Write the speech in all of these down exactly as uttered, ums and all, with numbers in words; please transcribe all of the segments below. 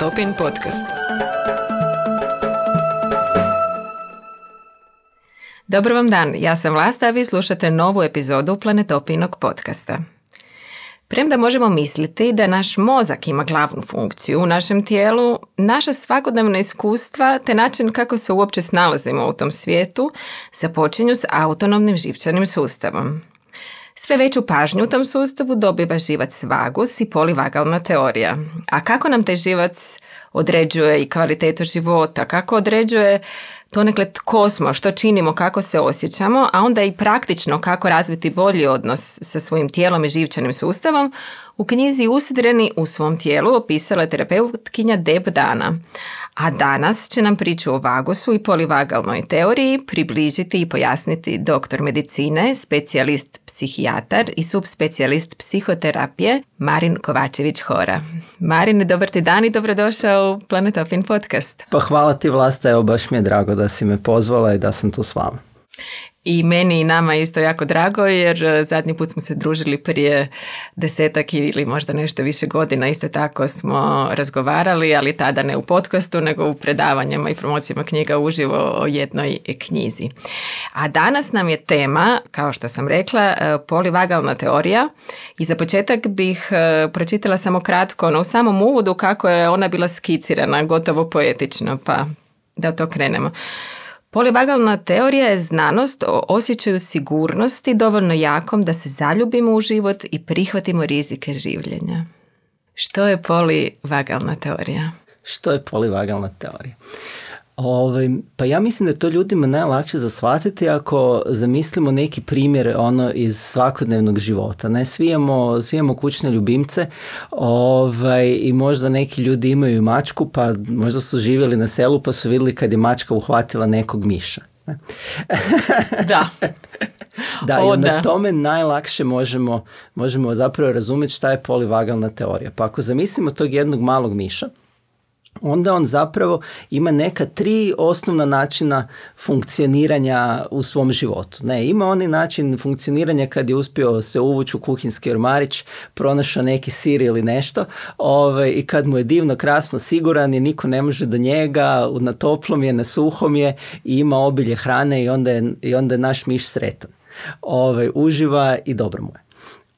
Planetopin podcast. Dobar vam dan, ja sam Vlasta, a vi slušate novu epizodu Planetopinog podcasta. Premda možemo misliti da naš mozak ima glavnu funkciju u našem tijelu, naša svakodnevna iskustva te način kako se uopće snalazimo u tom svijetu započinju s autonomnim živčanim sustavom. Sve veću pažnju u tom sustavu dobiva živac vagus i polivagalna teorija. A kako nam taj živac određuje i kvalitetu života, kako određuje donekle tko smo, što činimo, kako se osjećamo, a onda i praktično kako razviti bolji odnos sa svojim tijelom i živčanim sustavom, u knjizi Usidreni u svom tijelu opisala je terapeutkinja Deb Dana. A danas će nam priču o vagusu i polivagalnoj teoriji približiti i pojasniti doktor medicine, specijalist psihijatar i subspecijalist psihoterapije Marin Kovačević-Hora. Marin, dobar ti dan i dobrodošao u Planetopin podcast. Pa hvala ti, Vlasta, evo baš mi je drago da si me pozvala i da sam tu s vama. I meni i nama isto jako drago, jer zadnji put smo se družili prije desetak ili možda nešto više godina, isto tako smo razgovarali, ali tada ne u podcastu, nego u predavanjima i promocijama knjiga uživo o jednoj knjizi. A danas nam je tema, kao što sam rekla, polivagalna teorija i za početak bih pročitala samo kratko, no u samom uvodu kako je ona bila skicirana, gotovo poetično, pa da od to krenemo. Polivagalna teorija je znanost o osjećaju sigurnosti dovoljno jakom da se zaljubimo u život i prihvatimo rizike življenja. Što je polivagalna teorija? Što je polivagalna teorija? Ove, pa ja mislim da je to ljudima najlakše za shvatiti ako zamislimo neki primjer ono iz svakodnevnog života. Ne, svi imamo, svi imamo kućne ljubimce ovaj, i možda neki ljudi imaju mačku, pa možda su živjeli na selu pa su vidjeli kad je mačka uhvatila nekog miša. Ne? Da. Da, o, i na da. tome najlakše možemo, možemo zapravo razumjeti šta je polivagalna teorija. Pa ako zamislimo tog jednog malog miša, onda on zapravo ima neka tri osnovna načina funkcioniranja u svom životu. Ne, ima onaj način funkcioniranja kad je uspio se uvući u kuhinski ormarić, pronašao neki sir ili nešto, ovaj, i kad mu je divno, krasno, siguran i niko ne može do njega, na toplom je, na suhom je i ima obilje hrane i onda je, i onda je naš miš sretan. Ovaj, uživa i dobro mu je.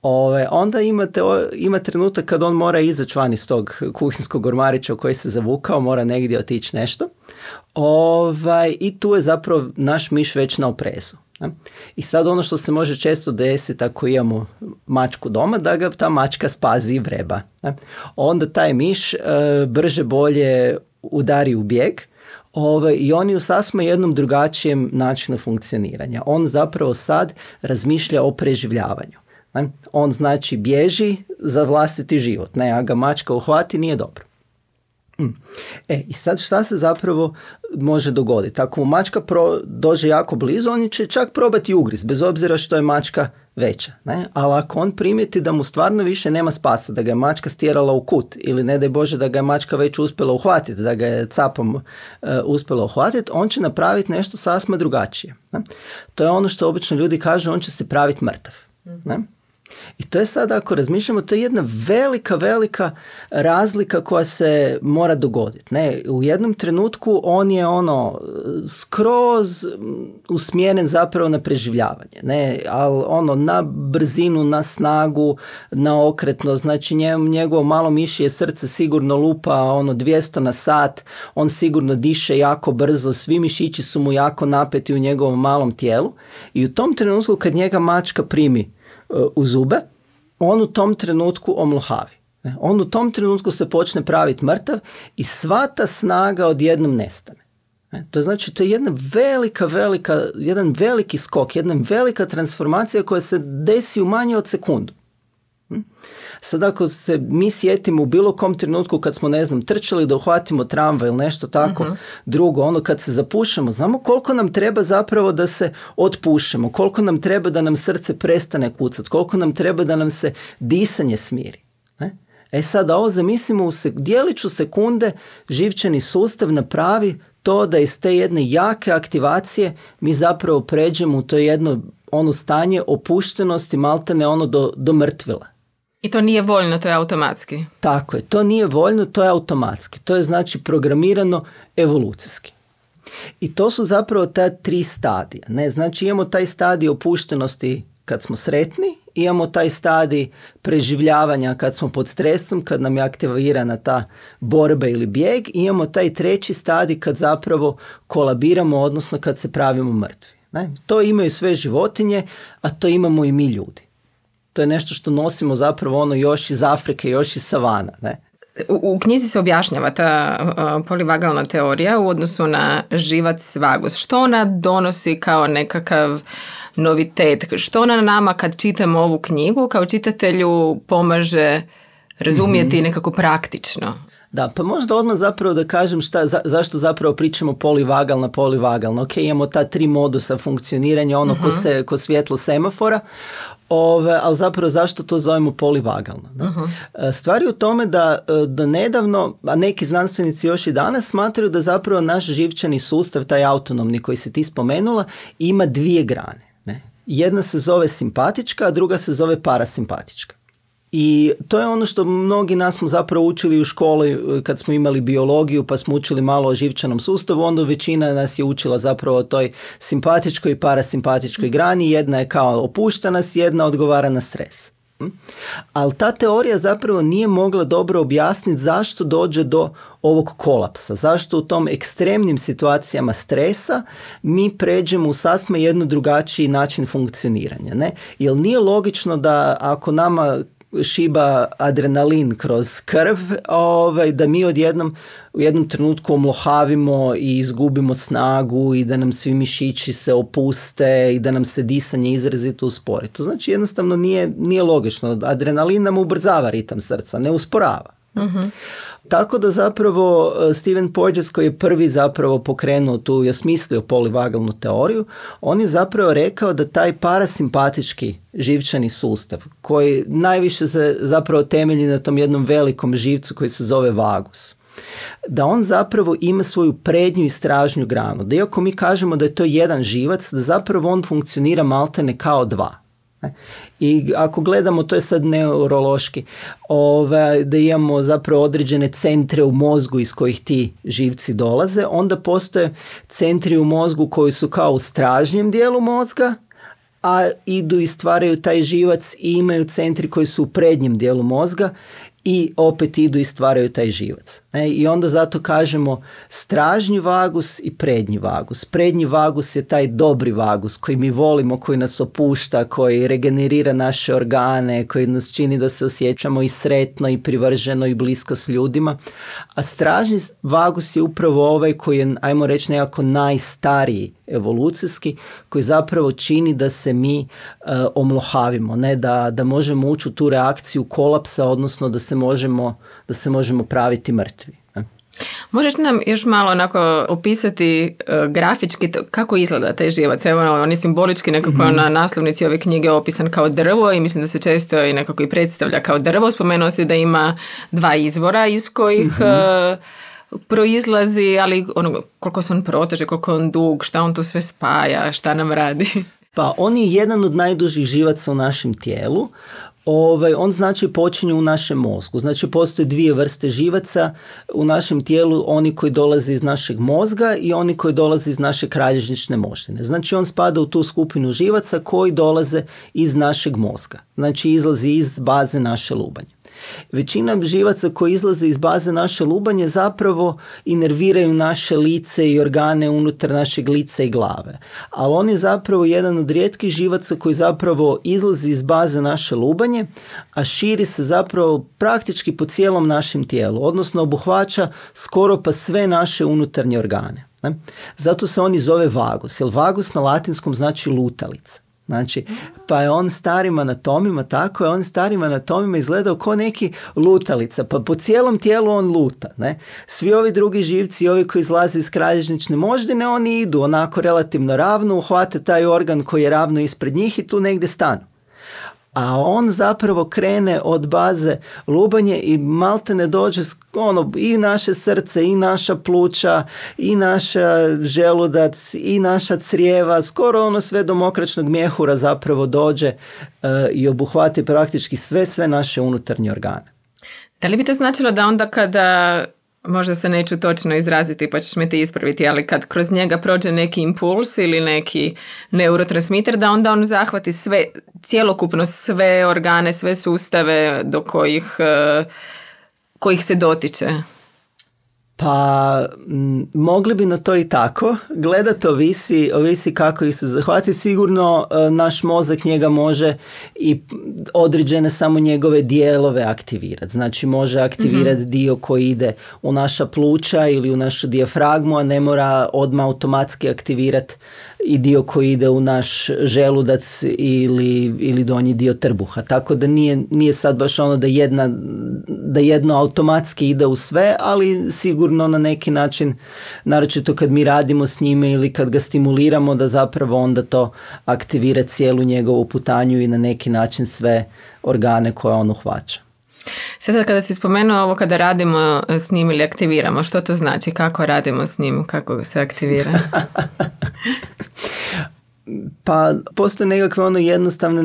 Ove, onda imate, ima trenutak kad on mora izaći van iz tog kuhinskog ormarića u koji se zavukao, mora negdje otići nešto. Ove, I tu je zapravo naš miš već na oprezu. Ne? I sad ono što se može često desiti ako imamo mačku doma, da ga ta mačka spazi i vreba. Ne? Onda taj miš e, brže bolje udari u bijeg. Ove, I on je u sasvim jednom drugačijem načinu funkcioniranja. On zapravo sad razmišlja o preživljavanju. Ne? On znači bježi za vlastiti život. Ne, a ga mačka uhvati, nije dobro. Mm. E, i sad šta se zapravo može dogoditi? Ako mu mačka pro, dođe jako blizu, on će čak probati ugriz, bez obzira što je mačka veća. Ne? Ali ako on primijeti da mu stvarno više nema spasa, da ga je mačka stjerala u kut, ili ne daj Bože da ga je mačka već uspjela uhvatiti, da ga je capom uh, uspjela uhvatiti, on će napraviti nešto sasma drugačije. Ne? To je ono što obično ljudi kažu, on će se praviti mrtav. Ne? I to je sad, ako razmišljamo, to je jedna velika, velika razlika koja se mora dogoditi. Ne, u jednom trenutku on je ono skroz usmjeren zapravo na preživljavanje. Ne, ali ono na brzinu, na snagu, na okretnost. Znači njegovo malo mišje srce sigurno lupa ono dvjesto na sat, on sigurno diše jako brzo, svi mišići su mu jako napeti u njegovom malom tijelu. I u tom trenutku kad njega mačka primi u zube, on u tom trenutku omlhavi. On u tom trenutku se počne praviti mrtav i sva ta snaga odjednom nestane. To znači, to je jedna velika, velika, jedan veliki skok, jedna velika transformacija koja se desi u manje od sekundu. Sad ako se mi sjetimo u bilo kom trenutku kad smo, ne znam, trčali da uhvatimo tramvaj ili nešto tako uh-huh. drugo, ono kad se zapušemo, znamo koliko nam treba zapravo da se otpušemo, koliko nam treba da nam srce prestane kucati, koliko nam treba da nam se disanje smiri. Ne? E sad, ovo zamislimo, u sek- dijeliću sekunde živčani sustav napravi to da iz te jedne jake aktivacije mi zapravo pređemo u to jedno ono stanje opuštenosti, maltene ono do, do mrtvila. I to nije voljno, to je automatski. Tako je, to nije voljno, to je automatski. To je znači programirano evolucijski. I to su zapravo ta tri stadija. Ne? Znači imamo taj stadij opuštenosti kad smo sretni, imamo taj stadij preživljavanja kad smo pod stresom, kad nam je aktivirana ta borba ili bijeg, i imamo taj treći stadij kad zapravo kolabiramo, odnosno kad se pravimo mrtvi. Ne? To imaju sve životinje, a to imamo i mi ljudi. To je nešto što nosimo zapravo ono još iz Afrike, još iz savana. Ne? U, u knjizi se objašnjava ta uh, polivagalna teorija u odnosu na živac vagus. Što ona donosi kao nekakav novitet? Što ona nama kad čitamo ovu knjigu kao čitatelju pomaže razumjeti mm-hmm. nekako praktično? Da, pa možda odmah zapravo da kažem šta, za, zašto zapravo pričamo polivagalna, polivagalna. Ok, imamo ta tri modusa funkcioniranja, ono uh-huh. ko, se, ko svjetlo semafora, ove, ali zapravo zašto to zovemo polivagalno? Uh-huh. Stvar je u tome da do nedavno, a neki znanstvenici još i danas smatraju da zapravo naš živčani sustav, taj autonomni koji se ti spomenula, ima dvije grane. Ne? Jedna se zove simpatička, a druga se zove parasimpatička. I to je ono što mnogi nas smo zapravo učili u školi kad smo imali biologiju, pa smo učili malo o živčanom sustavu, onda većina nas je učila zapravo o toj simpatičkoj i parasimpatičkoj grani. Jedna je kao opuštenost, jedna odgovara na stres. Ali ta teorija zapravo nije mogla dobro objasniti zašto dođe do ovog kolapsa, zašto u tom ekstremnim situacijama stresa mi pređemo u sasvim jednu drugačiji način funkcioniranja. Ne? Jer nije logično da ako nama šiba adrenalin kroz krv, ovaj, da mi odjednom u jednom trenutku omlohavimo i izgubimo snagu i da nam svi mišići se opuste i da nam se disanje izrazito uspori. To znači jednostavno nije, nije logično. Adrenalin nam ubrzava ritam srca, ne usporava. Uh-huh. Tako da zapravo Stephen Porges, koji je prvi zapravo pokrenuo tu i osmislio polivagalnu teoriju, on je zapravo rekao da taj parasimpatički živčani sustav, koji najviše se zapravo temelji na tom jednom velikom živcu koji se zove vagus, da on zapravo ima svoju prednju i stražnju granu. Da iako mi kažemo da je to jedan živac, da zapravo on funkcionira maltene kao dva. I ako gledamo, to je sad neurološki, ove, da imamo zapravo određene centre u mozgu iz kojih ti živci dolaze, onda postoje centri u mozgu koji su kao u stražnjem dijelu mozga, a idu i stvaraju taj živac, i imaju centri koji su u prednjem dijelu mozga i opet idu i stvaraju taj živac. E, I onda zato kažemo stražnji vagus i prednji vagus. Prednji vagus je taj dobri vagus koji mi volimo, koji nas opušta, koji regenerira naše organe, koji nas čini da se osjećamo i sretno i privrženo i blisko s ljudima. A stražnji vagus je upravo ovaj koji je, ajmo reći, nekako najstariji evolucijski, koji zapravo čini da se mi uh, omlohavimo, ne? Da, da možemo ući u tu reakciju kolapsa, odnosno da se možemo, da se možemo praviti mrtvi. Ne? Možeš nam još malo onako opisati uh, grafički kako izgleda taj živac? Evo, on je simbolički nekako mm-hmm. na naslovnici ove knjige opisan kao drvo i mislim da se često i nekako i predstavlja kao drvo. Spomenuo si da ima dva izvora iz kojih mm-hmm. uh, proizlazi, ali ono, koliko se on proteže, koliko on dug, šta on tu sve spaja, šta nam radi? Pa on je jedan od najdužih živaca u našem tijelu. Ovaj, on znači počinje u našem mozgu. Znači postoje dvije vrste živaca u našem tijelu, oni koji dolaze iz našeg mozga i oni koji dolaze iz naše kralježnične moždine. Znači on spada u tu skupinu živaca koji dolaze iz našeg mozga. Znači izlazi iz baze naše lubanje. Većina živaca koji izlaze iz baze naše lubanje zapravo inerviraju naše lice i organe unutar našeg lica i glave. Ali on je zapravo jedan od rijetkih živaca koji zapravo izlazi iz baze naše lubanje, a širi se zapravo praktički po cijelom našem tijelu, odnosno obuhvaća skoro pa sve naše unutarnje organe. Ne? Zato se on i zove vagus, jer vagus na latinskom znači lutalica. Znači, pa je on starim anatomima, tako je, on starim anatomima izgledao kao neki lutalica, pa po cijelom tijelu on luta, ne? Svi ovi drugi živci, ovi koji izlaze iz kralježnične moždine, oni idu onako relativno ravno, uhvate taj organ koji je ravno ispred njih i tu negdje stanu. A on zapravo krene od baze lubanje i malte ne dođe ono, i naše srce, i naša pluća, i naša želudac, i naša crijeva, skoro ono sve do mokračnog mjehura zapravo dođe uh, i obuhvati praktički sve, sve naše unutarnje organe. Da li bi to značilo da onda kada, možda se neću točno izraziti pa ćeš me ti ispraviti, ali kad kroz njega prođe neki impuls ili neki neurotransmiter, da onda on zahvati sve, cjelokupno sve organe, sve sustave do kojih, kojih se dotiče? Pa m, mogli bi na to i tako. Gledat ovisi, ovisi kako ih se zahvati. Sigurno e, naš mozak njega može i određene samo njegove dijelove aktivirati. Znači može aktivirati mm-hmm. dio koji ide u naša pluća ili u našu dijafragmu, a ne mora odmah automatski aktivirati i dio koji ide u naš želudac ili, ili donji dio trbuha. Tako da nije, nije sad baš ono da, jedna, da jedno automatski ide u sve, ali sigurno na neki način, naročito kad mi radimo s njime ili kad ga stimuliramo, da zapravo onda to aktivira cijelu njegovu putanju i na neki način sve organe koje on uhvaća. Sada kada si spomenuo ovo kada radimo s njim ili aktiviramo, što to znači? Kako radimo s njim? Kako se aktivira? Pa postoje nekakve ono jednostavne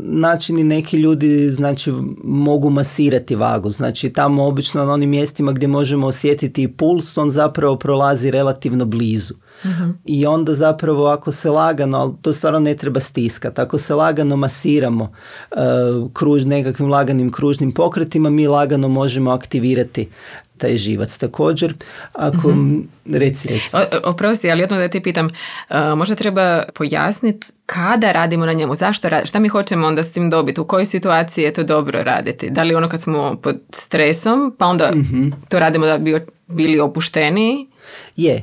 načini, neki ljudi znači mogu masirati vagu, znači tamo obično na onim mjestima gdje možemo osjetiti puls, on zapravo prolazi relativno blizu. Mm-hmm. I onda zapravo ako se lagano, ali to stvarno ne treba stiskati, ako se lagano masiramo uh, kruž, nekakvim laganim kružnim pokretima, mi lagano možemo aktivirati taj živac. Također, ako mm-hmm. reci, reci. O, oprosti, ali jedno da ti pitam, uh, možda treba pojasniti kada radimo na njemu, zašto radimo, šta mi hoćemo onda s tim dobiti, u kojoj situaciji je to dobro raditi, da li ono kad smo pod stresom, pa onda mm-hmm. to radimo da bi bili opušteniji? Je,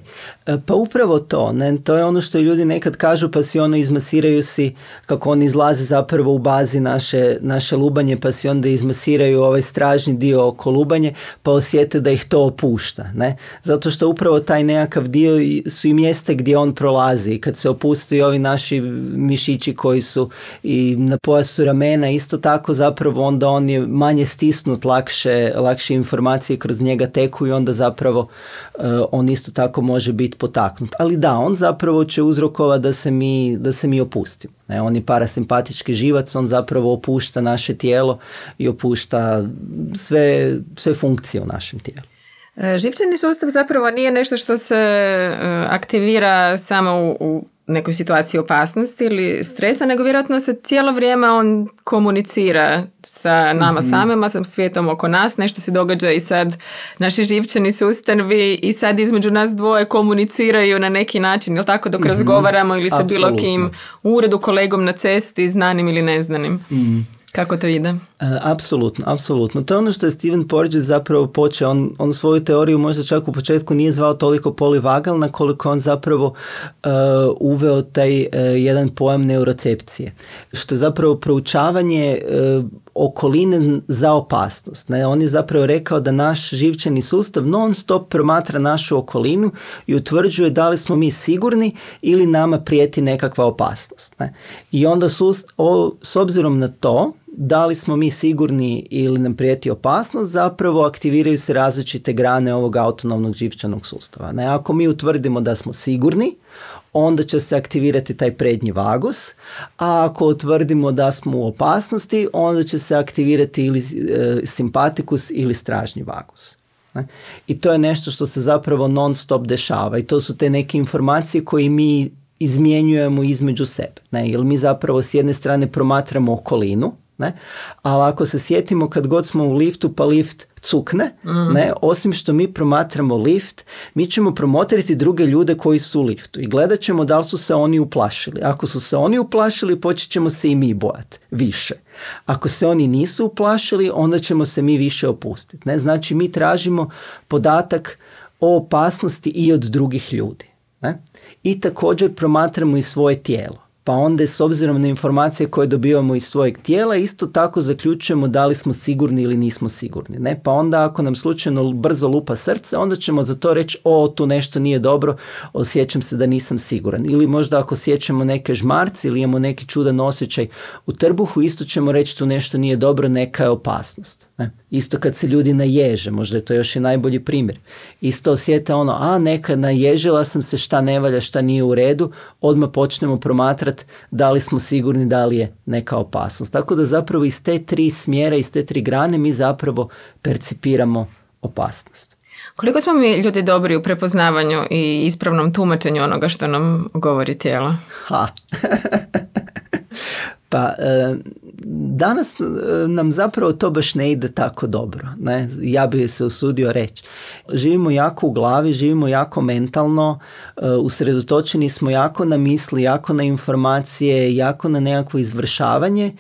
pa upravo to, ne? To je ono što ljudi nekad kažu pa si ono izmasiraju si kako on izlazi zapravo u bazi naše, naše lubanje, pa si onda izmasiraju ovaj stražni dio oko lubanje pa osjete da ih to opušta, ne? Zato što upravo taj nekakav dio su i mjesta gdje on prolazi i kad se opusti ovi naši mišići koji su i na pojasu ramena, isto tako zapravo onda on je manje stisnut, lakše, lakše informacije kroz njega teku i onda zapravo uh, on isto tako može biti potaknut. Ali da, on zapravo će uzrokovati da se mi, da se mi opustimo. Ne, on je parasimpatički živac, on zapravo opušta naše tijelo i opušta sve, sve funkcije u našem tijelu. Živčani sustav zapravo nije nešto što se aktivira samo u, u nekoj situaciji opasnosti ili stresa, nego vjerojatno se cijelo vrijeme on komunicira sa nama mm-hmm. samima, sa svijetom oko nas, nešto se događa i sad naši živčani sustavi i sad između nas dvoje komuniciraju na neki način, jel tako, dok mm-hmm. razgovaramo ili sa Absolutno. Bilo kim u uredu, kolegom na cesti, znanim ili neznanim. Mm. Kako to ide? Uh, apsolutno, apsolutno. To je ono što je Stephen Porges zapravo počeo. On, on svoju teoriju možda čak u početku nije zvao toliko polivagalna, koliko on zapravo uh, uveo taj uh, jedan pojam neurocepcije. Što je zapravo proučavanje uh, okoline za opasnost. Ne? On je zapravo rekao da naš živčani sustav non stop promatra našu okolinu i utvrđuje da li smo mi sigurni ili nama prijeti nekakva opasnost. Ne? I onda sus, o, s obzirom na to da li smo mi sigurni ili nam prijeti opasnost, zapravo aktiviraju se različite grane ovog autonomnog živčanog sustava. Ne? Ako mi utvrdimo da smo sigurni, onda će se aktivirati taj prednji vagus, a ako utvrdimo da smo u opasnosti, onda će se aktivirati ili e, simpatikus ili stražnji vagus. Ne? I to je nešto što se zapravo non stop dešava i to su te neke informacije koje mi izmjenjujemo između sebe. Ne? Jer mi zapravo s jedne strane promatramo okolinu, ne? Ali ako se sjetimo kad god smo u liftu pa lift cukne, mm. ne? Osim što mi promatramo lift, mi ćemo promotriti druge ljude koji su u liftu i gledat ćemo da li su se oni uplašili. Ako su se oni uplašili, počet ćemo se i mi bojati više. Ako se oni nisu uplašili, onda ćemo se mi više opustiti. Ne? Znači mi tražimo podatak o opasnosti i od drugih ljudi. Ne? I također promatramo i svoje tijelo. pa onda s obzirom na informacije koje dobivamo iz svojeg tijela, isto tako zaključujemo da li smo sigurni ili nismo sigurni. Ne? Pa onda ako nam slučajno brzo lupa srce, onda ćemo za to reći, o, tu nešto nije dobro, osjećam se da nisam siguran. Ili možda ako osjećamo neke žmarci ili imamo neki čudan osjećaj u trbuhu, isto ćemo reći tu nešto nije dobro, neka je opasnost. Ne? Isto kad se ljudi naježe, možda je to još i najbolji primjer. Isto osjete ono, a neka naježila sam se, šta ne valja, šta nije u redu, odmah počnemo promatrati da li smo sigurni da li je neka opasnost. Tako da zapravo iz te tri smjera, iz te tri grane mi zapravo percipiramo opasnost. Koliko smo mi ljudi dobri u prepoznavanju i ispravnom tumačenju onoga što nam govori tijelo? Ha. Pa e, danas nam zapravo to baš ne ide tako dobro. Ne? Ja bih se usudio reći. Živimo jako u glavi, živimo jako mentalno, e, usredotočeni smo jako na misli, jako na informacije, jako na nekakvo izvršavanje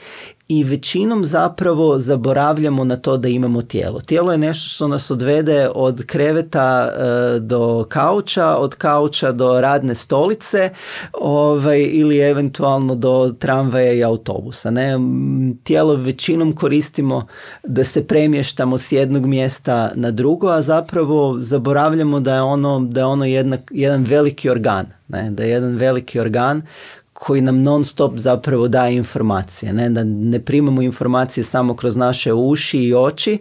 i većinom zapravo zaboravljamo na to da imamo tijelo. Tijelo je nešto što nas odvede od kreveta e, do kauča, od kauča do radne stolice ovaj, ili eventualno do tramvaja i autobusa. Ne? Tijelo većinom koristimo da se premještamo s jednog mjesta na drugo, a zapravo zaboravljamo da je ono, da je ono jedna, jedan veliki organ. Ne? Da je jedan veliki organ koji nam non stop zapravo daje informacije. Ne, da ne primamo informacije samo kroz naše uši i oči,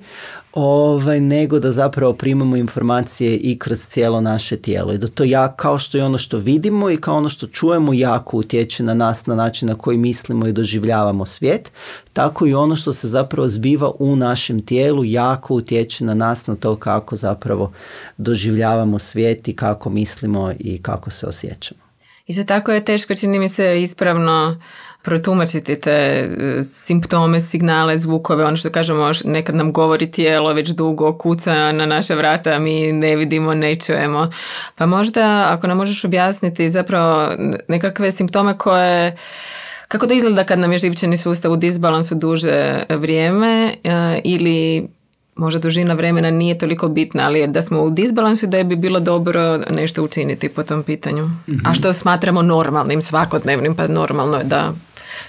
ovaj, nego da zapravo primamo informacije i kroz cijelo naše tijelo. I da to ja, kao što je ono što vidimo i kao ono što čujemo, jako utječe na nas na način na koji mislimo i doživljavamo svijet, tako i ono što se zapravo zbiva u našem tijelu jako utječe na nas, na to kako zapravo doživljavamo svijet i kako mislimo i kako se osjećamo. Isto tako je teško, čini mi se, ispravno protumačiti te simptome, signale, zvukove, ono što kažemo, nekad nam govori tijelo već dugo, kuca na naše vrata, a mi ne vidimo, ne čujemo. Pa možda, ako nam možeš objasniti zapravo nekakve simptome koje, kako to izgleda kad nam je živčani sustav u disbalansu duže vrijeme ili možda dužina vremena nije toliko bitna, ali da smo u disbalansu da bi bilo dobro nešto učiniti po tom pitanju. Mm-hmm. A što smatramo normalnim, svakodnevnim, pa normalno je da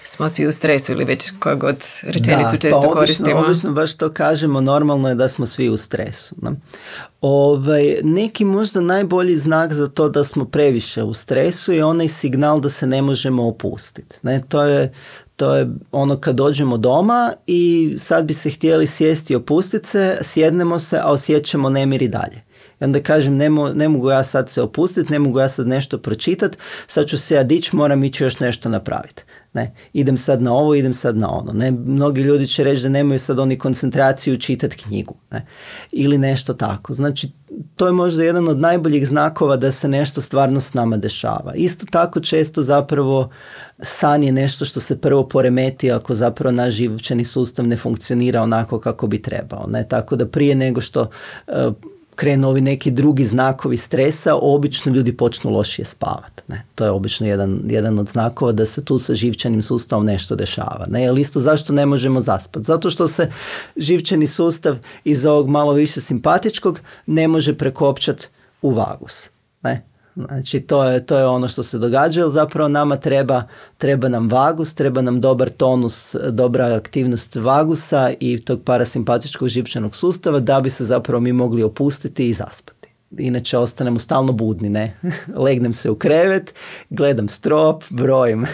smo svi u stresu ili već koju god rečenicu da, često pa obično, koristimo. Obično baš to kažemo, normalno je da smo svi u stresu. Ne? Ovaj, neki možda najbolji znak za to da smo previše u stresu je onaj signal da se ne možemo opustiti. Ne? To je To je ono kad dođemo doma i sad bi se htjeli sjesti i opustiti se, sjednemo se, a osjećamo nemir i dalje. I onda kažem, ne, mo, ne mogu ja sad se opustiti, ne mogu ja sad nešto pročitati, sad ću se ja dići, moram ići još nešto napraviti. Ne, idem sad na ovo, idem sad na ono. Ne, mnogi ljudi će reći da nemaju sad oni koncentraciju čitati knjigu. Ne, ili nešto tako. Znači, to je možda jedan od najboljih znakova da se nešto stvarno s nama dešava. Isto tako često zapravo san je nešto što se prvo poremeti ako zapravo naš živčani sustav ne funkcionira onako kako bi trebao. Ne, tako da prije nego što uh, krenu ovi neki drugi znakovi stresa, obično ljudi počnu lošije spavati. Ne? To je obično jedan, jedan od znakova da se tu sa živčanim sustavom nešto dešava. Ne? Ali isto zašto ne možemo zaspati? Zato što se živčani sustav iz ovog malo više simpatičkog ne može prekopčati u vagus. Ne? Znači to je, to je ono što se događa, jer zapravo nama treba, treba nam vagus, treba nam dobar tonus, dobra aktivnost vagusa i tog parasimpatičkog živčanog sustava da bi se zapravo mi mogli opustiti i zaspati. Inače ostanemo stalno budni, ne? Legnem se u krevet, gledam strop, brojim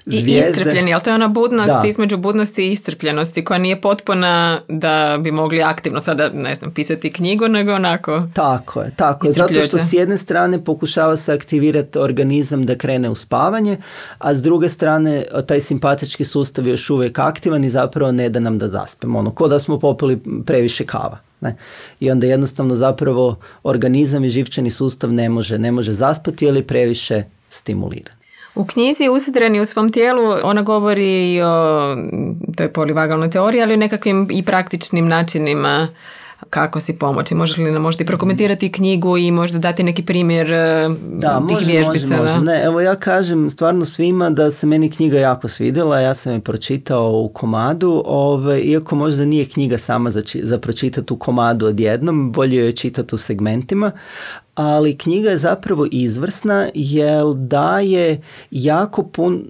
zvijezde. I iscrpljeni, ali to je ona budnost da. Između budnosti i iscrpljenosti koja nije potpuna da bi mogli aktivno sada, ne znam, pisati knjigu, nego onako. Tako je, tako je. Zato što s jedne strane pokušava se aktivirati organizam da krene u spavanje, a s druge strane taj simpatički sustav je još uvijek aktivan i zapravo ne da nam da zaspemo. Ono, ko da smo popili previše kava. Ne? I onda jednostavno zapravo organizam i živčani sustav ne može, ne može zaspati jer je previše stimuliran. U knjizi Usidreni u svom tijelu ona govori i o toj polivagalnoj teoriji, ali o nekakvim i praktičnim načinima kako si pomoći. Možeš li nam možda i prokomentirati knjigu i možda dati neki primjer da, tih može, vježbica? Može, može. Ne, evo ja kažem stvarno svima da se meni knjiga jako svidjela, ja sam je pročitao u komadu, ove, iako možda nije knjiga sama za, za pročitati u komadu odjednom, bolje je čitati u segmentima, ali knjiga je zapravo izvrsna jer daje jako pun,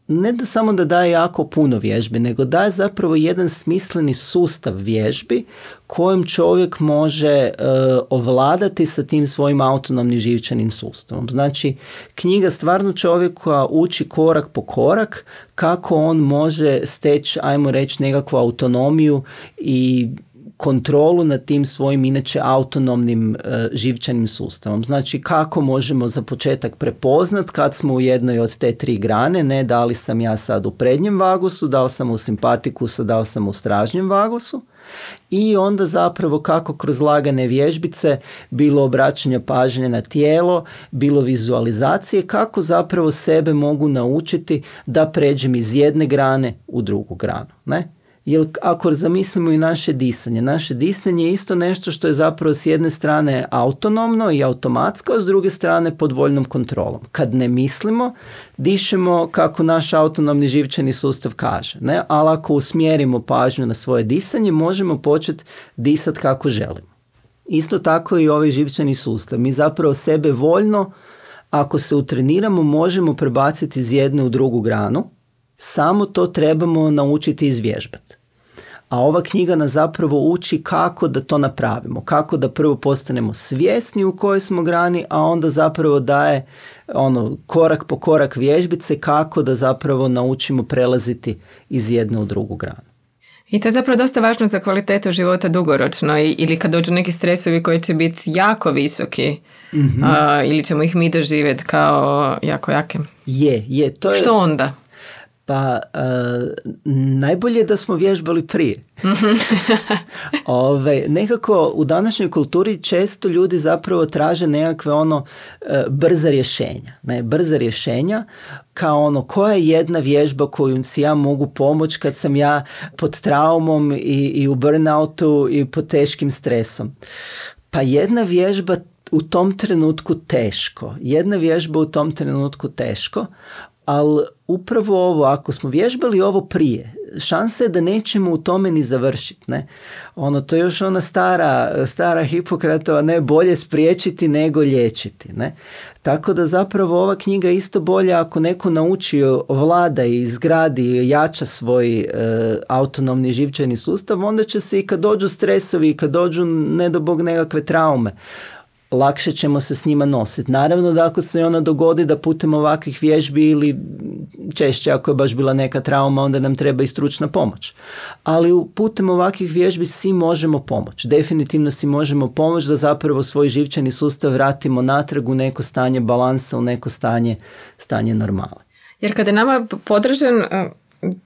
ne da samo da daje jako puno vježbi, nego daje zapravo jedan smisleni sustav vježbi kojim čovjek može uh, ovladati sa tim svojim autonomnim živčanim sustavom. Znači, knjiga stvarno čovjeka uči korak po korak kako on može steći, ajmo reći, nekakvu autonomiju i kontrolu nad tim svojim inače autonomnim e, živčanim sustavom. Znači kako možemo za početak prepoznat kad smo u jednoj od te tri grane, ne da li sam ja sad u prednjem vagusu, da li sam u simpatikusu, da li sam u stražnjem vagusu. I onda zapravo kako kroz lagane vježbice, bilo obraćanja pažnje na tijelo, bilo vizualizacije, kako zapravo sebe mogu naučiti da pređem iz jedne grane u drugu granu, ne? Jer ako zamislimo i naše disanje, naše disanje je isto nešto što je zapravo s jedne strane autonomno i automatsko, a s druge strane pod voljnom kontrolom. Kad ne mislimo, dišemo kako naš autonomni živčani sustav kaže, ne? Ali ako usmjerimo pažnju na svoje disanje, možemo početi disati kako želimo. Isto tako i ovaj živčani sustav. Mi zapravo sebe voljno, ako se utreniramo, možemo prebaciti iz jedne u drugu granu, samo to trebamo naučiti izvježbati. A ova knjiga nas zapravo uči kako da to napravimo, kako da prvo postanemo svjesni u kojoj smo grani, a onda zapravo daje ono, korak po korak vježbice kako da zapravo naučimo prelaziti iz jedne u drugu granu. I to je zapravo dosta važno za kvalitetu života dugoročno ili kad dođu neki stresovi koji će biti jako visoki, mm-hmm. a, ili ćemo ih mi doživjeti kao jako jake. Je, je. To je... Što onda? Pa uh, najbolje je da smo vježbali prije. Ove, nekako u današnjoj kulturi često ljudi zapravo traže nekakve ono uh, brza rješenja. Ne, brza rješenja kao ono koja je jedna vježba koju si ja mogu pomoći kad sam ja pod traumom i, i u burnoutu i pod teškim stresom. Pa jedna vježba u tom trenutku teško. Jedna vježba u tom trenutku teško. Ali upravo ovo, ako smo vježbali ovo prije, šansa je da nećemo u tome ni završiti. Ne? Ono, to je još ona stara, stara Hipokratova, ne, bolje spriječiti nego liječiti. Ne? Tako da zapravo ova knjiga je isto bolja ako neko nauči, vlada i izgradi i jača svoj e, autonomni živčani sustav, onda će se i kad dođu stresovi i kad dođu ne do Bog nekakve traume, lakše ćemo se s njima nositi. Naravno da ako se ona dogodi da putem ovakvih vježbi ili češće ako je baš bila neka trauma, onda nam treba i stručna pomoć. Ali putem ovakvih vježbi svi možemo pomoći. Definitivno si možemo pomoći da zapravo svoj živčani sustav vratimo natrag u neko stanje balansa, u neko stanje, stanje normale. Jer kada je nama podržan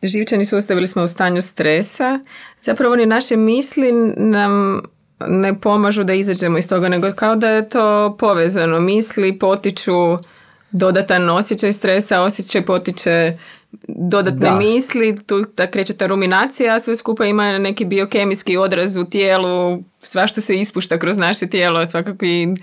živčani sustav ili smo u stanju stresa, zapravo oni naše misli nam ne pomažu da izađemo iz toga, nego kao da je to povezano. Misli potiču dodatan osjećaj stresa, osjećaj potiče dodatne da. misli, tu da kreće ta ruminacija, a sve skupa ima neki biokemijski odraz u tijelu, svašta se ispušta kroz naše tijelo, svakakvi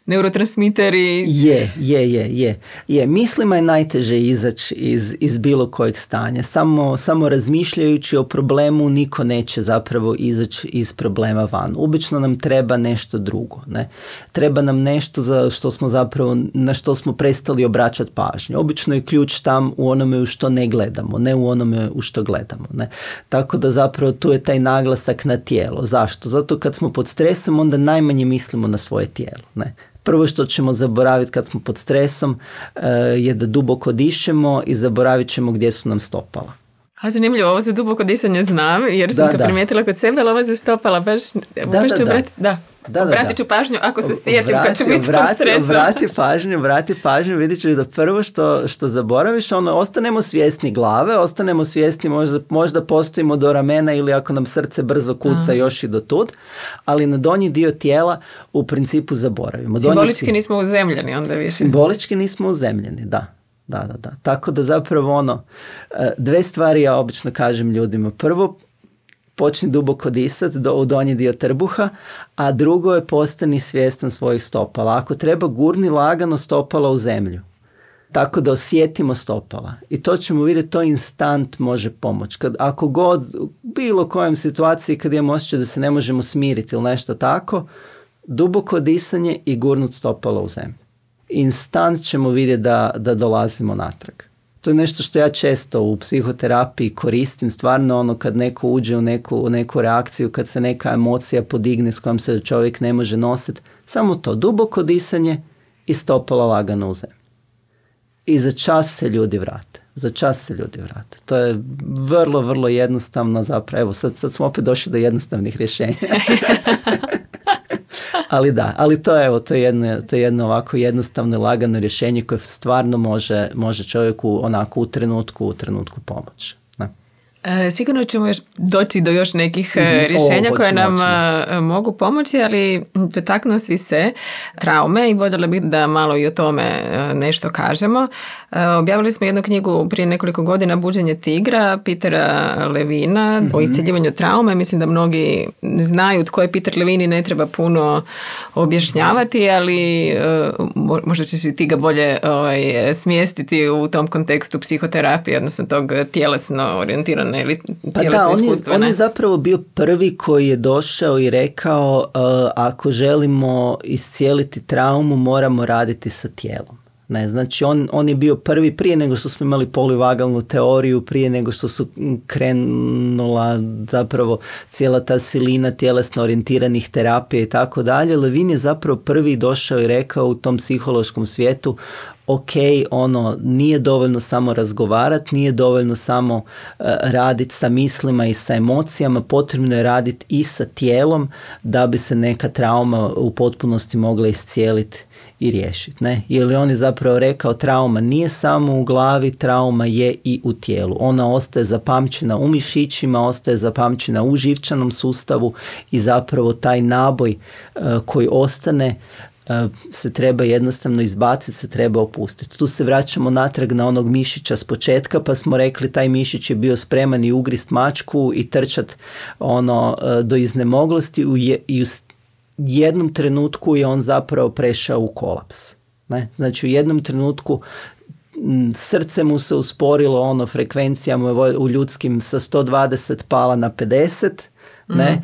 neurotransmiteri. Je, je, je, je. je. Mislima je najteže izaći iz, iz bilo kojeg stanja. Samo, samo razmišljajući o problemu niko neće zapravo izaći iz problema van. Obično nam treba nešto drugo. Ne? Treba nam nešto za što smo zapravo, na što smo prestali obraćati pažnju. Obično je ključ tam u onome u što ne gledamo, ne u onome u što gledamo. Ne? Tako da zapravo tu je taj naglasak na tijelo. Zašto? Zato kad smo pod stresom onda najmanje mislimo na svoje tijelo. Ne? Prvo što ćemo zaboraviti kad smo pod stresom uh, je da duboko dišemo i zaboravit ćemo gdje su nam stopala. A zanimljivo, ovo za duboko disanje znam jer sam da, to da. primijetila kod sebe, ali ovo za stopala baš, da, baš da, ću da. obrati, da. Da, obratit da, ću da. pažnju ako se sjetim vrati, kad ću biti vrati, pod stresom. Vrati pažnju, vrati pažnju, vidit ćeš da prvo što, što zaboraviš, ono, ostanemo svjesni glave, ostanemo svjesni, možda, možda postojimo do ramena ili ako nam srce brzo kuca Aha. još i do tud, ali na donji dio tijela u principu zaboravimo. Simbolički donji... nismo uzemljeni onda više. Simbolički nismo uzemljeni, da. Da, da, da. Tako da zapravo ono, dve stvari ja obično kažem ljudima. Prvo, počni duboko disati do, u donji dio trbuha, a drugo je postani svjestan svojih stopala. Ako treba, gurni lagano stopala u zemlju, tako da osjetimo stopala. I to ćemo vidjeti, to instant može pomoći. Kad, ako god, u bilo kojem situaciji kad imamo osjećaj da se ne možemo smiriti ili nešto tako, duboko disanje i gurnut stopala u zemlju. Instant ćemo vidjeti da, da dolazimo natrag. To je nešto što ja često u psihoterapiji koristim, stvarno ono kad neko uđe u neku, u neku reakciju, kad se neka emocija podigne s kojom se čovjek ne može nositi, samo to, duboko disanje i stopala lagano u zemlju. I za čas se ljudi vrate. Za čas se ljudi vrate. To je vrlo, vrlo jednostavno zapravo. Evo, sad, sad smo opet došli do jednostavnih rješenja. Ali da, ali to je, evo, to je jedno, to je jedno ovako jednostavno i lagano rješenje koje stvarno može, može čovjeku onako u trenutku, u trenutku pomoći. E, sigurno ćemo još doći do još nekih mm-hmm. rješenja o, koje nam moći. mogu pomoći, ali dotaknuo si se traume i voljela bih da malo i o tome nešto kažemo. E, objavili smo jednu knjigu prije nekoliko godina, Buđenje tigra, Petera Levina, mm-hmm. o isceljivanju traume. Mislim da mnogi znaju tko je Peter Levin i ne treba puno objašnjavati, ali e, možda ćeš i ti ga bolje ovaj, smjestiti u tom kontekstu psihoterapije, odnosno tog tjelesno orijentirane. Pa da, on je, on je zapravo bio prvi koji je došao i rekao uh, ako želimo iscijeliti traumu moramo raditi sa tijelom. Ne, znači on, on je bio prvi prije nego što smo imali polivagalnu teoriju, prije nego što su krenula zapravo cijela ta silina tjelesno orijentiranih terapija i tako dalje. Levin je zapravo prvi došao i rekao u tom psihološkom svijetu ok, ono, nije dovoljno samo razgovarati, nije dovoljno samo uh, raditi sa mislima i sa emocijama, potrebno je raditi i sa tijelom da bi se neka trauma u potpunosti mogla iscijeliti i riješiti. Ne? Jer on je zapravo rekao trauma nije samo u glavi, trauma je i u tijelu. Ona ostaje zapamćena u mišićima, ostaje zapamćena u živčanom sustavu i zapravo taj naboj uh, koji ostane se treba jednostavno izbaciti, se treba opustiti. Tu se vraćamo natrag na onog mišića s početka, pa smo rekli taj mišić je bio spreman i ugrist mačku i trčat ono do iznemoglosti i u jednom trenutku je on zapravo prešao u kolaps. Ne? Znači u jednom trenutku srce mu se usporilo, ono frekvencija mu je u ljudskim sa sto dvadeset pala na pedeset, ne?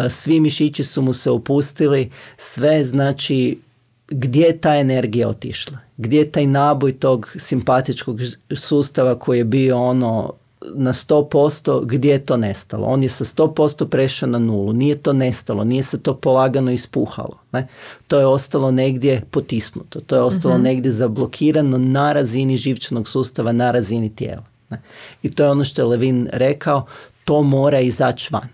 Svi mišići su mu se opustili, sve, znači gdje je ta energija otišla, gdje je taj naboj tog simpatičkog sustava koji je bio ono na sto posto, gdje je to nestalo? On je sa sto posto prešao na nulu, nije to nestalo, nije se to polagano ispuhalo, ne? To je ostalo negdje potisnuto, to je ostalo uh-huh. negdje zablokirano na razini živčanog sustava, na razini tijela, ne? I to je ono što je Levin rekao, to mora izaći van.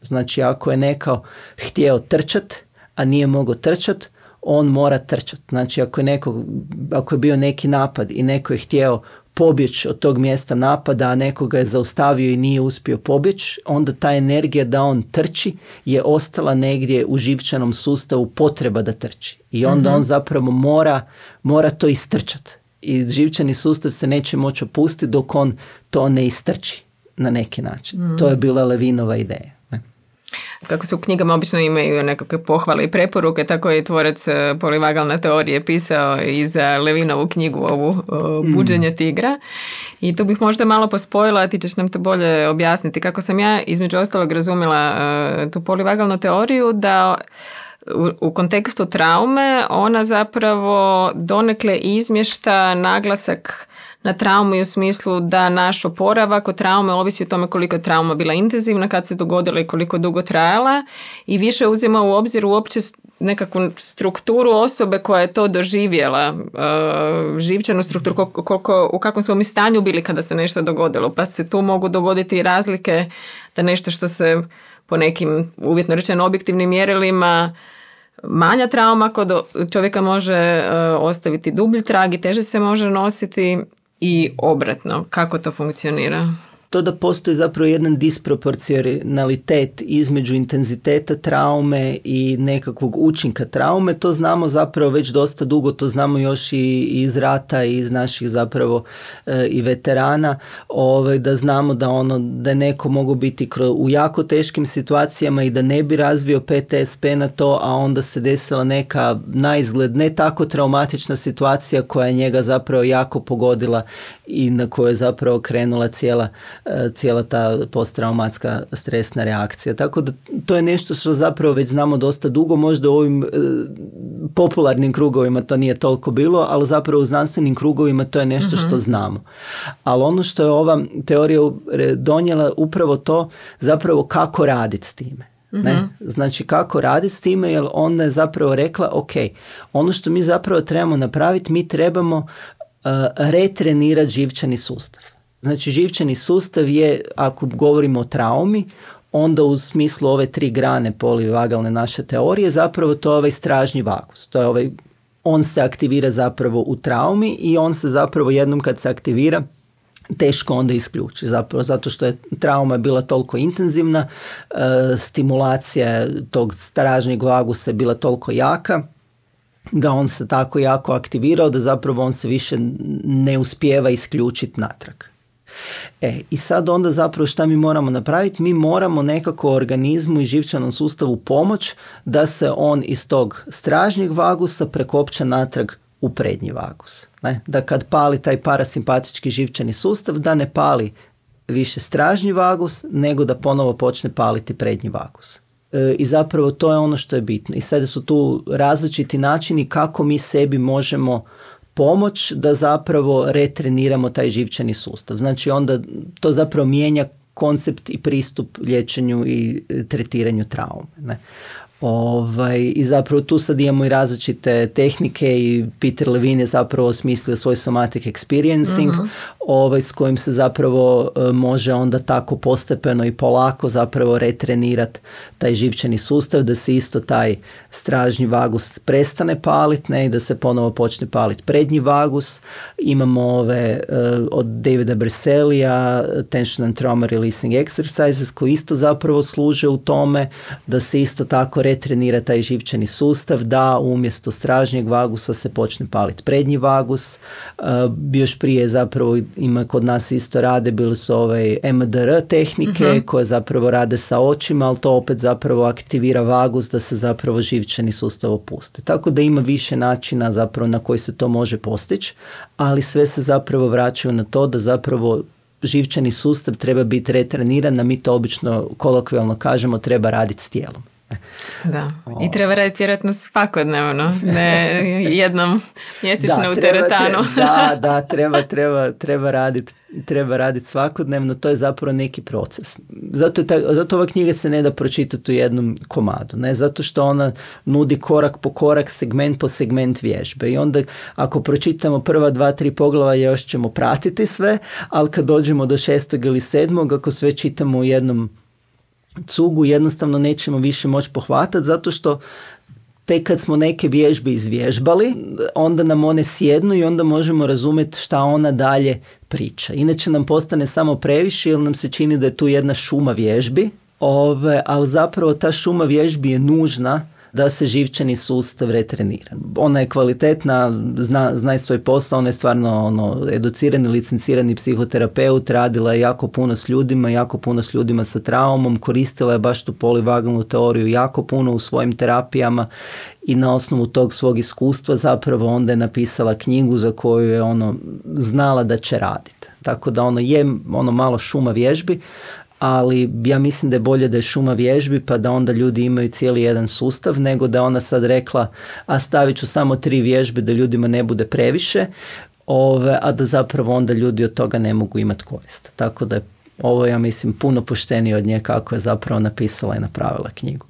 Znači ako je neko htio trčat, a nije mogao trčat, on mora trčat. Znači ako je, neko, ako je bio neki napad i neko je htio pobjeći od tog mjesta napada, a nekoga je zaustavio i nije uspio pobjeći, onda ta energija da on trči je ostala negdje u živčanom sustavu, potreba da trči. I onda mm-hmm. on zapravo mora, mora to istrčat. I živčani sustav se neće moći opustiti dok on to ne istrči na neki način. Mm. To je bila Levinova ideja. Kako se u knjigama obično imaju nekakve pohvale i preporuke, tako je tvorac polivagalne teorije pisao i za Levinovu knjigu ovu Buđenje tigra. I tu bih možda malo pospojila, ti ćeš nam to bolje objasniti. Kako sam ja između ostalog razumjela tu polivagalnu teoriju, da u, u kontekstu traume ona zapravo donekle izmješta naglasak na traumu i u smislu da naš oporavak od traume ovisi o tome koliko je trauma bila intenzivna, kad se dogodila i koliko dugo trajala, i više uzima u obzir uopće nekakvu strukturu osobe koja je to doživjela, uh, živčanu strukturu, koliko, u kakvom smo mi stanju bili kada se nešto dogodilo, pa se tu mogu dogoditi razlike da nešto što se po nekim uvjetno rečeno objektivnim mjerilima manja trauma kod čovjeka može uh, ostaviti dublji trag i teže se može nositi, i obratno. Kako to funkcionira? To da postoji zapravo jedan disproporcionalitet između intenziteta traume i nekakvog učinka traume, to znamo zapravo već dosta dugo, to znamo još i iz rata i iz naših zapravo e, i veterana, ovaj, da znamo da ono da je neko mogu biti u jako teškim situacijama i da ne bi razvio P T S P na to, a onda se desila neka naizgled ne tako traumatična situacija koja je njega zapravo jako pogodila i na kojoj je zapravo krenula cijela cijela ta posttraumatska stresna reakcija. Tako da to je nešto što zapravo već znamo dosta dugo, možda u ovim e, popularnim krugovima to nije toliko bilo, ali zapravo u znanstvenim krugovima to je nešto uh-huh. što znamo. Ali ono što je ova teorija donijela upravo to, zapravo kako raditi s time. Uh-huh. Ne? Znači kako raditi s time, jer ona je zapravo rekla, ok, ono što mi zapravo trebamo napraviti, mi trebamo uh, retrenirati živčani sustav. Znači živčani sustav je, ako govorimo o traumi, onda u smislu ove tri grane polivagalne naše teorije, zapravo to je ovaj stražnji vagus. To je ovaj, on se aktivira zapravo u traumi i on se zapravo jednom kad se aktivira teško onda isključi. Zapravo zato što je trauma bila toliko intenzivna, e, stimulacija tog stražnjeg vagusa je bila toliko jaka, da on se tako jako aktivirao da zapravo on se više ne uspijeva isključiti natrag. E, i sad onda zapravo šta mi moramo napraviti? Mi moramo nekako organizmu i živčanom sustavu pomoć da se on iz tog stražnjeg vagusa prekopča natrag u prednji vagus. Ne? Da kad pali taj parasimpatički živčani sustav, da ne pali više stražnji vagus, nego da ponovo počne paliti prednji vagus. E, I zapravo to je ono što je bitno. I sada su tu različiti načini kako mi sebi možemo pomoć da zapravo retreniramo taj živčani sustav. Znači onda to zapravo mijenja koncept i pristup liječenju i tretiranju traume. Ne? Ovaj, I zapravo tu sad imamo i različite tehnike i Peter Levine je zapravo osmislio svoj somatic experiencing uh-huh. ovaj, s kojim se zapravo e, može onda tako postepeno i polako zapravo retrenirati taj živčani sustav, da se isto taj stražnji vagus prestane paliti, ne, i da se ponovo počne paliti prednji vagus. Imamo ove e, od Davida Berselija tension and trauma releasing exercises koji isto zapravo služe u tome da se isto tako retrenira taj živčani sustav, da umjesto stražnjeg vagusa se počne paliti prednji vagus. Uh, još prije zapravo ima kod nas isto rade, bili su ovaj M D R tehnike uh-huh. koje zapravo rade sa očima, ali to opet zapravo aktivira vagus da se zapravo živčani sustav opusti. Tako da ima više načina zapravo na koji se to može postići, ali sve se zapravo vraćaju na to da zapravo živčani sustav treba biti retreniran, a mi to obično kolokvijalno kažemo treba raditi s tijelom. Da, i treba raditi vjerojatno svakodnevno, ne jednom mjesečno da, u teretanu. Treba, da, da, treba, treba, treba raditi treba raditi svakodnevno, to je zapravo neki proces. Zato, je ta, zato ova knjiga se ne da pročitati u jednom komadu, ne? Zato što ona nudi korak po korak, segment po segment vježbe i onda ako pročitamo prva dva, tri poglava još ćemo pratiti sve, ali kad dođemo do šestog ili sedmog, ako sve čitamo u jednom cugu, jednostavno nećemo više moći pohvatati, zato što tek kad smo neke vježbe izvježbali, onda nam one sjednu i onda možemo razumjeti šta ona dalje priča. Inače nam postane samo previše jer nam se čini da je tu jedna šuma vježbi, ove, ali zapravo ta šuma vježbi je nužna da se živčani sustav retrenira. Ona je kvalitetna, zna, zna svoj posao, ona je stvarno ono, educirani, licencirani psihoterapeut, radila je jako puno s ljudima, jako puno s ljudima sa traumom, koristila je baš tu polivagalnu teoriju jako puno u svojim terapijama i na osnovu tog svog iskustva zapravo onda je napisala knjigu za koju je ono znala da će raditi. Tako da ono je ono malo šuma vježbi, ali ja mislim da je bolje da je šuma vježbi pa da onda ljudi imaju cijeli jedan sustav, nego da ona sad rekla a stavit ću samo tri vježbe da ljudima ne bude previše, ove, a da zapravo onda ljudi od toga ne mogu imati korist. Tako da je ovo, ja mislim, puno poštenije od nje kako je zapravo napisala i napravila knjigu.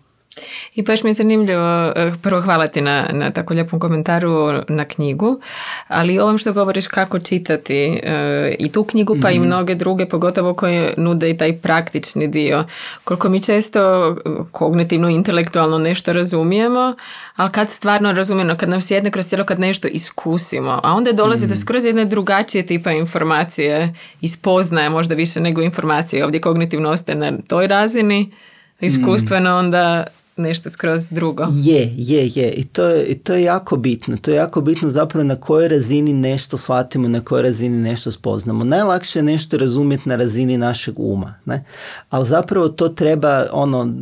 I baš mi je zanimljivo, prvo hvala ti na, na tako lijepom komentaru na knjigu, ali ovom što govoriš kako čitati e, i tu knjigu pa mm-hmm. i mnoge druge, pogotovo koje nude i taj praktični dio. Koliko mi često kognitivno, intelektualno nešto razumijemo, ali kad stvarno razumijemo, kad nam sjedne kroz tijelo, kad nešto iskusimo, a onda dolazi mm-hmm. do skroz jedne drugačije tipa informacije i spoznaje možda više nego informacije. Ovdje kognitivno ostaje na toj razini, iskustveno onda nešto skroz drugo. Je, je, je. I to je, i to je jako bitno. To je jako bitno zapravo na kojoj razini nešto shvatimo, na kojoj razini nešto spoznamo. Najlakše je nešto razumjeti na razini našeg uma. Ne? Ali zapravo to treba, ono,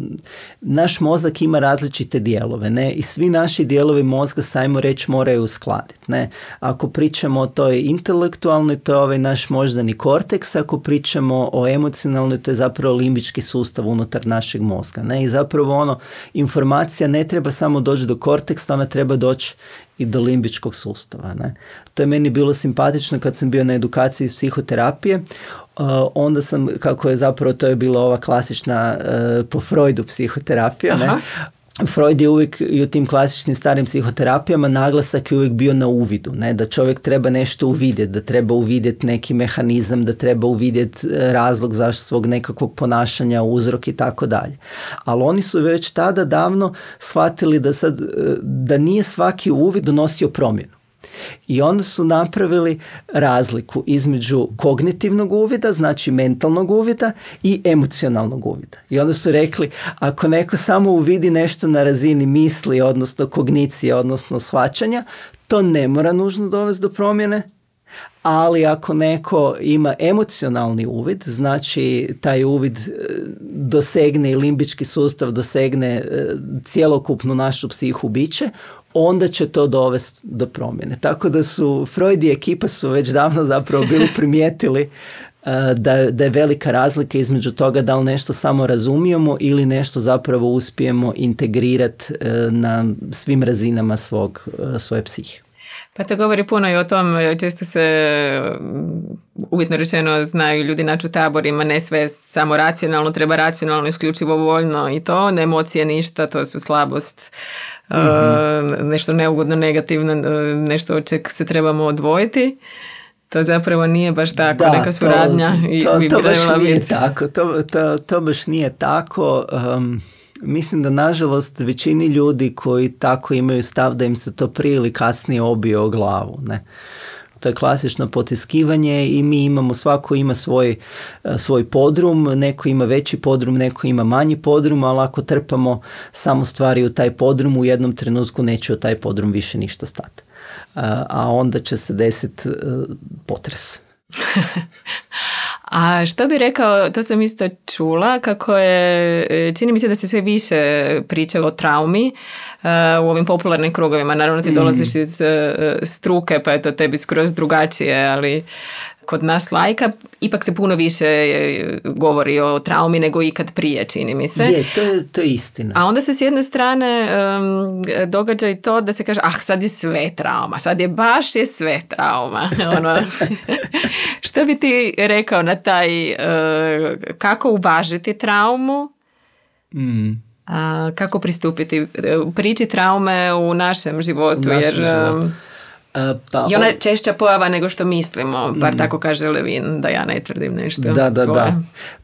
naš mozak ima različite dijelove. Ne? I svi naši dijelovi mozga, sajmo reći, moraju uskladiti. Ne? Ako pričamo o toj intelektualnoj, to je ovaj naš moždani korteks. Ako pričamo o emocionalnoj, to je zapravo limbički sustav unutar našeg mozga. Ne? I zapravo ono, informacija ne treba samo doći do korteksa, ona treba doći i do limbičkog sustava. Ne? To je meni bilo simpatično kad sam bio na edukaciji iz psihoterapije. Uh, onda sam, kako je zapravo, to je bila ova klasična uh, po Freudu psihoterapija. Ne? Freud je uvijek i u tim klasičnim starim psihoterapijama naglasak je uvijek bio na uvidu, ne? Da čovjek treba nešto uvidjeti, da treba uvidjeti neki mehanizam, da treba uvidjeti razlog zašto svog nekakvog ponašanja, uzrok i tako dalje. Ali oni su već tada davno shvatili da, sad, da nije svaki uvid donosio promjenu. I onda su napravili razliku između kognitivnog uvida, znači mentalnog uvida, i emocionalnog uvida. I onda su rekli, ako neko samo uvidi nešto na razini misli, odnosno kognicije, odnosno shvaćanja, to ne mora nužno dovesti do promjene. Ali ako neko ima emocionalni uvid, znači taj uvid dosegne i limbički sustav, dosegne cjelokupnu našu psihu biće, onda će to dovesti do promjene. Tako da su Freud i ekipa su već davno zapravo bili primijetili uh, da, da je velika razlika između toga da li nešto samo razumijemo ili nešto zapravo uspijemo integrirati uh, na svim razinama svog, uh, svoje psihe. Pa to govori puno i o tom, često se uvjetno rečeno znaju ljudi naći u taborima, ne sve samo racionalno, treba racionalno, isključivo voljno i to, ne emocije ništa, to su slabost, mm-hmm. uh, nešto neugodno, negativno, nešto od čeg se trebamo odvojiti. To zapravo nije baš tako, da, neka suradnja. To, i to, bi to baš nije biti. tako, to, to, to baš nije tako. Um, Mislim da nažalost većini ljudi koji tako imaju stav da im se to prije ili kasnije obije o glavu. Ne? To je klasično potiskivanje i mi imamo, svako ima svoj, svoj podrum, neko ima veći podrum, neko ima manji podrum, ali ako trpamo samo stvari u taj podrum, u jednom trenutku neće u taj podrum više ništa stati. A onda će se desiti potres. A što bi rekao, to sam isto čula, kako je, čini mi se da se sve više priča o traumi uh, u ovim popularnim krugovima. Naravno ti dolaziš mm. iz uh, struke, pa je to tebi skroz drugačije, ali kod nas lajka ipak se puno više govori o traumi nego ikad prije, čini mi se. Je, to je, to je istina. A onda se s jedne strane um, događa i to da se kaže, ah, sad je sve trauma, sad je baš je sve trauma. Ono, što bi ti rekao na taj, uh, kako uvažiti traumu, mm. a, kako pristupiti priči traume u našem životu, našem jer... životu. Um, Pa, I ona je češća pojava nego što mislimo, bar mm. tako kaže Levin, da ja ne tvrdim nešto da, da, svoje. Da.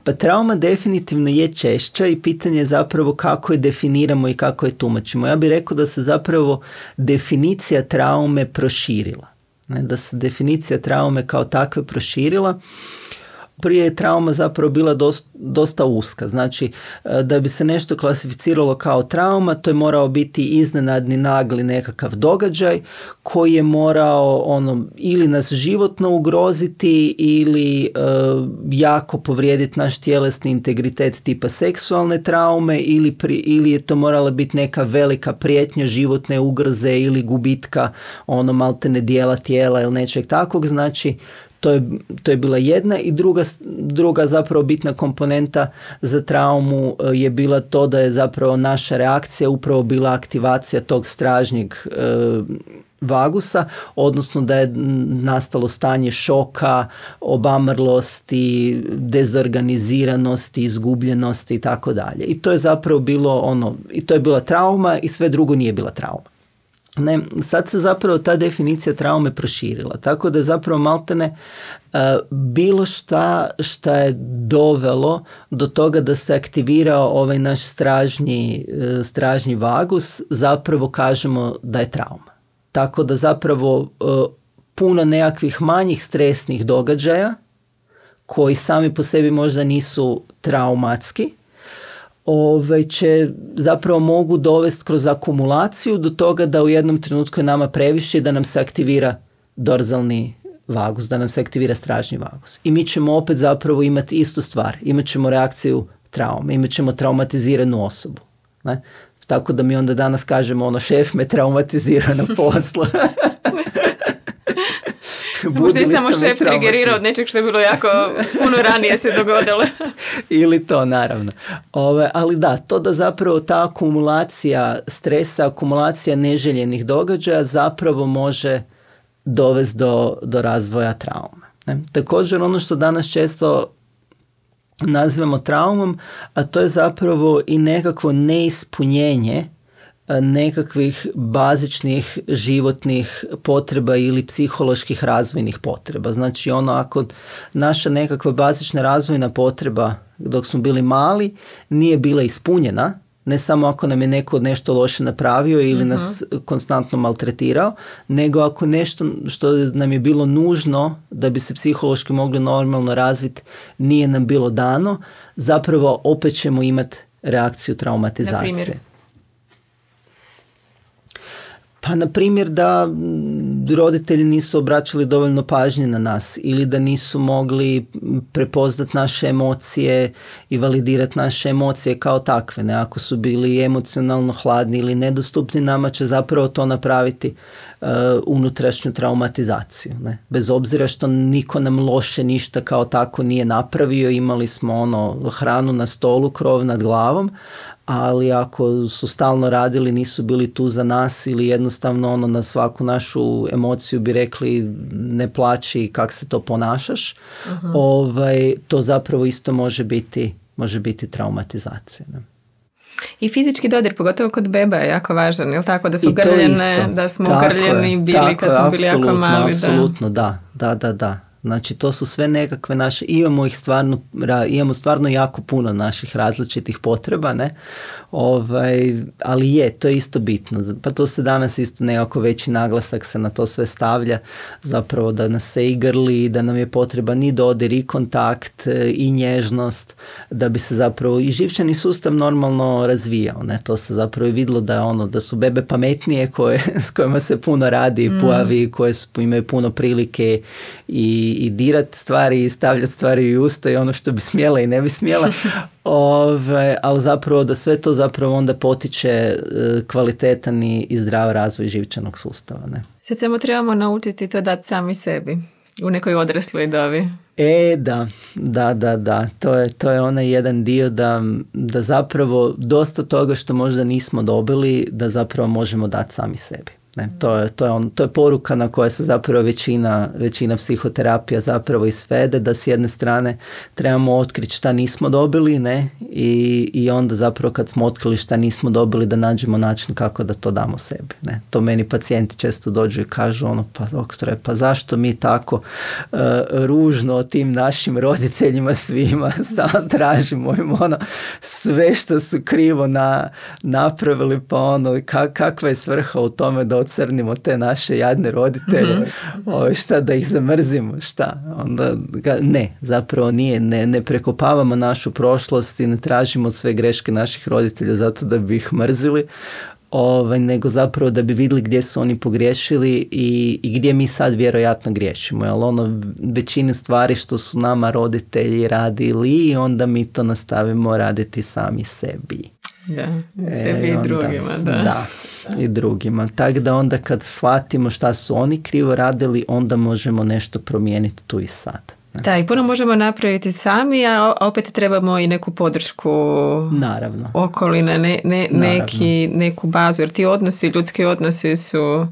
Pa trauma definitivno je češća i pitanje je zapravo kako je definiramo i kako je tumačimo. Ja bih rekao da se zapravo definicija traume proširila. Ne? Da se definicija traume kao takve proširila. Prije je trauma zapravo bila dosta, dosta uska. Znači, da bi se nešto klasificiralo kao trauma, to je morao biti iznenadni, nagli nekakav događaj koji je morao ono, ili nas životno ugroziti ili e, jako povrijediti naš tjelesni integritet tipa seksualne traume ili, pri, ili je to morala biti neka velika prijetnja životne ugroze ili gubitka ono maltene dijela tijela ili nečeg takvog. Znači, To je, to je bila jedna i druga, druga zapravo bitna komponenta za traumu je bila to da je zapravo naša reakcija upravo bila aktivacija tog stražnjeg e, vagusa, odnosno da je nastalo stanje šoka, obamrlosti, dezorganiziranosti, izgubljenosti i tako dalje. I to je zapravo bilo ono, i to je bila trauma i sve drugo nije bila trauma. Ne, sad se zapravo ta definicija traume proširila, tako da zapravo maltene uh, bilo šta šta je dovelo do toga da se aktivirao ovaj naš stražnji, uh, stražnji vagus, zapravo kažemo da je trauma. Tako da zapravo uh, puno nekakvih manjih stresnih događaja koji sami po sebi možda nisu traumatski, Ove će zapravo mogu dovesti kroz akumulaciju do toga da u jednom trenutku je nama previše da nam se aktivira dorzalni vagus, da nam se aktivira stražnji vagus. I mi ćemo opet zapravo imati istu stvar. Imat ćemo reakciju traume, imat ćemo traumatiziranu osobu. Ne? Tako da mi onda danas kažemo ono, šef me traumatizira na poslu. Možda je samo šef trigerirao od nečeg što je bilo jako puno ranije se dogodilo. Ili to, naravno. Ove, ali da, to da zapravo ta akumulacija stresa, akumulacija neželjenih događaja zapravo može dovesti do, do razvoja traume. Ne? Također ono što danas često nazivamo traumom, a to je zapravo i nekakvo neispunjenje nekakvih bazičnih životnih potreba ili psiholoških razvojnih potreba. Znači ono, ako naša nekakva bazična razvojna potreba dok smo bili mali nije bila ispunjena, ne samo ako nam je neko nešto loše napravio ili uh-huh. nas konstantno maltretirao, nego ako nešto što nam je bilo nužno da bi se psihološki mogli normalno razviti nije nam bilo dano, zapravo opet ćemo imati reakciju traumatizacije. Na primjer? Pa, na primjer, da roditelji nisu obraćali dovoljno pažnje na nas ili da nisu mogli prepoznati naše emocije i validirati naše emocije kao takve. Ne? Ako su bili emocionalno hladni ili nedostupni, nama će zapravo to napraviti uh, unutrašnju traumatizaciju. Ne? Bez obzira što niko nam loše ništa kao tako nije napravio, imali smo ono hranu na stolu, krov nad glavom, ali ako su stalno radili, nisu bili tu za nas ili jednostavno ono na svaku našu emociju bi rekli ne plaći, kak se to ponašaš, uh-huh. ovaj, to zapravo isto može biti, može biti traumatizacija. Ne? I fizički dodir, pogotovo kod beba je jako važan, jel tako, da su grljene, da smo grljeni bili kad smo bili jako mali. Apsolutno, da, da, da, da. Znači to su sve nekakve naše, imamo ih stvarno, imamo stvarno jako puno naših različitih potreba, ne? Ovaj, ali je, to je isto bitno. Pa to se danas isto nekako veći naglasak se na to sve stavlja, zapravo da nas se i grli, da nam je potreban i dodir i kontakt i nježnost, da bi se zapravo i živčani sustav normalno razvijao, ne? To se zapravo i vidjelo da, ono, da su bebe pametnije koje, s kojima se puno radi, mm. pojavi, koje su, imaju puno prilike i, i dirati stvari i stavljati stvari u usta i ono što bi smjela i ne bi smjela. Ove, ali zapravo da sve to zapravo onda potiče kvalitetan i zdrav razvoj živčanog sustava. Ne? Sad samo trebamo naučiti to dati sami sebi u nekoj odrasloj dobi. E, da, da, da, da. To je, to je onaj jedan dio da, da zapravo dosta toga što možda nismo dobili, da zapravo možemo dati sami sebi. Ne, to je, to je, on, to je poruka na kojoj se zapravo većina, većina psihoterapija zapravo isvede, da s jedne strane trebamo otkriti šta nismo dobili, ne, i, i onda zapravo kad smo otkrili šta nismo dobili da nađemo način kako da to damo sebi. Ne. To meni pacijenti često dođu i kažu ono, pa doktore, pa zašto mi tako uh, ružno o tim našim roditeljima svima stalno tražimo im ono sve što su krivo na, napravili, pa ono kak, kakva je svrha u tome da ocrnimo te naše jadne roditelje, mm-hmm. o, šta da ih zamrzimo, šta? Onda ne, zapravo nije, ne, ne prekopavamo našu prošlost i ne tražimo sve greške naših roditelja zato da bi ih mrzili, ovaj, nego zapravo da bi vidjeli gdje su oni pogriješili i, i gdje mi sad vjerojatno griješimo. Jer ono, većina stvari što su nama roditelji radili, onda mi to nastavimo raditi sami sebi. Da, sebi e, i drugima, da. Da, i drugima. Tako da onda kad shvatimo šta su oni krivo radili, onda možemo nešto promijeniti tu i sad. Da, i puno možemo napraviti sami, a opet trebamo i neku podršku Naravno. okoline, ne, ne, neki, neku bazu, jer ti odnosi, ljudski odnosi su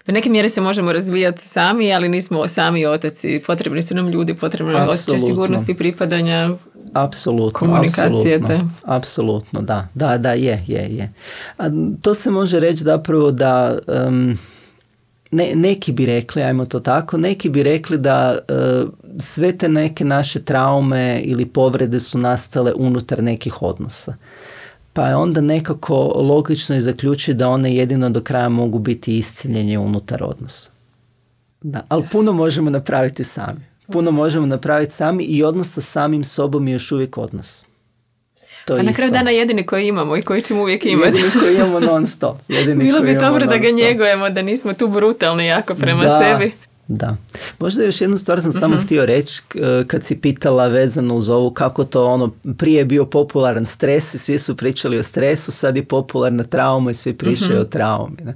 u neke mjere se možemo razvijati sami, ali nismo sami otaci. Potrebni su nam ljudi, potrebni nam osjećaj sigurnosti, pripadanja, apsolutno, komunikacije. Apsolutno, apsolutno, da, da, da, je, je, je. A to se može reći zapravo da um, ne, neki bi rekli, ajmo to tako, neki bi rekli da uh, sve te neke naše traume ili povrede su nastale unutar nekih odnosa. Pa je onda nekako logično i zaključiti da one jedino do kraja mogu biti isciljenje unutar odnosa. Da, ali puno možemo napraviti sami. Puno možemo napraviti sami i odnos sa samim sobom je još uvijek odnos. To A na kraju dana jedini koji imamo i koji ćemo uvijek imati. Jedini koji imamo non stop. Bilo bi dobro da ga njegujemo, da nismo tu brutalni jako prema da. sebi. Da. Možda još jednu stvar sam samo uh-huh. htio reći kad si pitala vezano uz ovu kako to ono prije je bio popularan stres i svi su pričali o stresu, sad je popularna trauma i svi pričaju uh-huh. o traumi. Ne?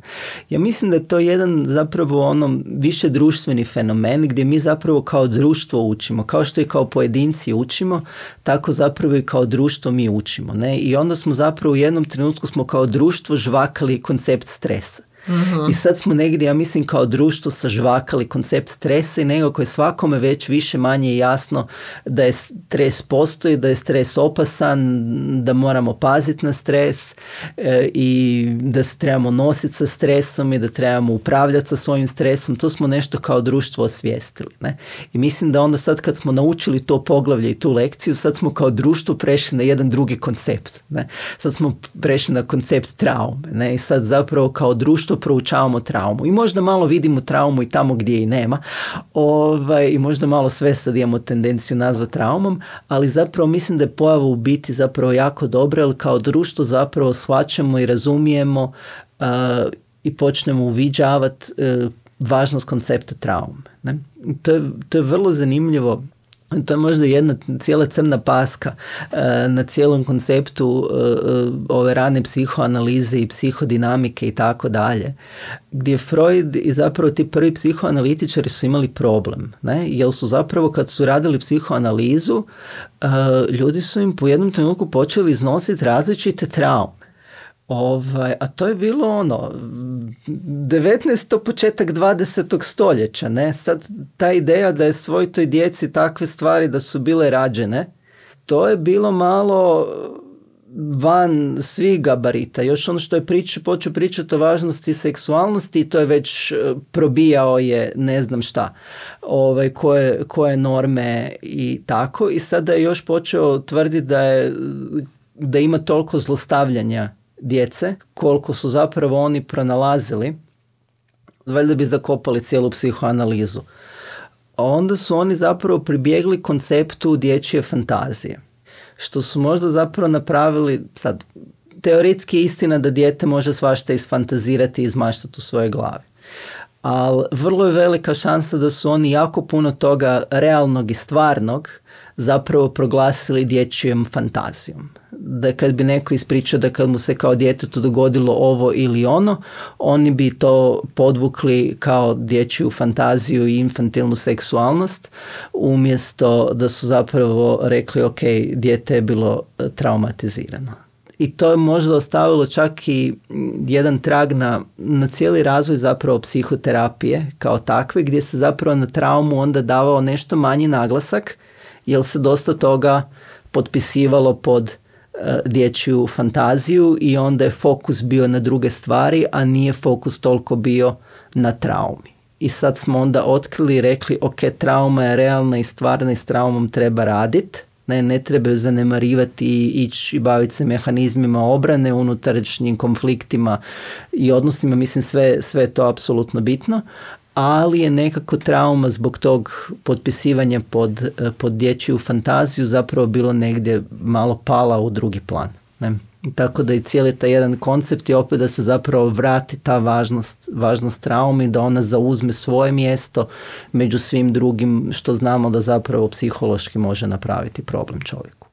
Ja mislim da je to jedan zapravo ono više društveni fenomen gdje mi zapravo kao društvo učimo, kao što i kao pojedinci učimo, tako zapravo i kao društvo mi učimo. Ne? I onda smo zapravo u jednom trenutku smo kao društvo žvakali koncept stresa. Uh-huh. I sad smo negdje, ja mislim, kao društvo sažvakali koncept stresa i nekako je svakome već više manje jasno da je stres postoji, da je stres opasan, da moramo paziti na stres e, i da se trebamo nositi sa stresom i da trebamo upravljati sa svojim stresom. To smo nešto kao društvo osvijestili. Ne? I mislim da onda sad kad smo naučili to poglavlje i tu lekciju, sad smo kao društvo prešli na jedan drugi koncept. Ne? Sad smo prešli na koncept traume. Ne? I sad zapravo kao društvo proučavamo traumu i možda malo vidimo traumu i tamo gdje i nema ovaj, i možda malo sve sad imamo tendenciju nazvati traumom, ali zapravo mislim da je pojava u biti zapravo jako dobra, jer kao društvo zapravo shvaćamo i razumijemo uh, i počnemo uviđavati uh, važnost koncepta traume. Ne? To je, to je vrlo zanimljivo. To je možda jedna cijela crna paska uh, na cijelom konceptu uh, ove rane psihoanalize i psihodinamike i tako dalje, gdje Freud i zapravo ti prvi psihoanalitičari su imali problem, ne? Jer su zapravo kad su radili psihoanalizu, uh, ljudi su im po jednom trenutku počeli iznositi različite traume. Ovaj, a to je bilo ono devetnaesto početak dvadesetog stoljeća, ne? Sad ta ideja da je svojoj djeci takve stvari da su bile rađene, to je bilo malo van svih gabarita. Još ono što je priča, počeo pričati o važnosti seksualnosti i to je već probijao je ne znam šta, ovaj, koje, koje norme i tako. I sada je još počeo tvrditi da, je, da ima toliko zlostavljanja djece, koliko su zapravo oni pronalazili, valjda bi zakopali cijelu psihoanalizu. A onda su oni zapravo pribjegli konceptu dječje fantazije. Što su možda zapravo napravili, sad, teoretski je istina da dijete može svašta isfantazirati i izmaštati u svojoj glavi. Ali vrlo je velika šansa da su oni jako puno toga realnog i stvarnog zapravo proglasili dječjom fantazijom. Da kad bi neko ispričao da kad mu se kao djetetu dogodilo ovo ili ono, oni bi to podvukli kao dječju fantaziju i infantilnu seksualnost, umjesto da su zapravo rekli ok, dijete je bilo traumatizirano. I to je možda ostavilo čak i jedan trag na, na cijeli razvoj zapravo psihoterapije kao takve, gdje se zapravo na traumu onda davao nešto manji naglasak, jer se dosta toga potpisivalo pod uh, dječju fantaziju i onda je fokus bio na druge stvari, a nije fokus toliko bio na traumi. I sad smo onda otkrili i rekli ok, trauma je realna i stvarna i s traumom treba raditi. Ne, ne trebaju zanemarivati i ići i baviti se mehanizmima obrane, unutrašnjim konfliktima i odnosima, mislim sve, sve je to apsolutno bitno, ali je nekako trauma zbog tog potpisivanja pod, pod dječju fantaziju zapravo bilo negdje malo pala u drugi plan. Ne? Tako da i cijeli taj jedan koncept je opet da se zapravo vrati ta važnost, važnost traume, da ona zauzme svoje mjesto među svim drugim što znamo da zapravo psihološki može napraviti problem čovjeku.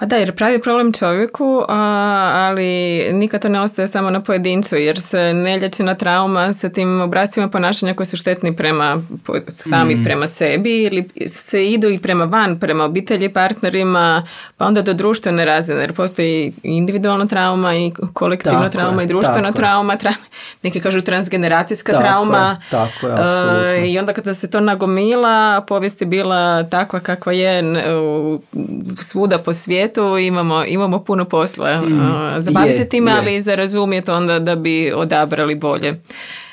Pa da, jer pravi problem čovjeku, a, ali nikad to ne ostaje samo na pojedincu, jer se nelječena trauma sa tim obrascima ponašanja koji su štetni prema sami mm. prema sebi ili se idu i prema van, prema obitelji, partnerima, pa onda do društvene razine, jer postoji individualna trauma i kolektivna tako trauma je, i društvena trauma, tra, neki kažu transgeneracijska tako trauma. Je, tako je, apsolutno. Uh, I onda kada se to nagomila, povijest je bila takva kakva je uh, svuda po svijetu, imamo, imamo puno posla mm. uh, zabaviti se time, je. ali i za razumjeti onda da bi odabrali bolje.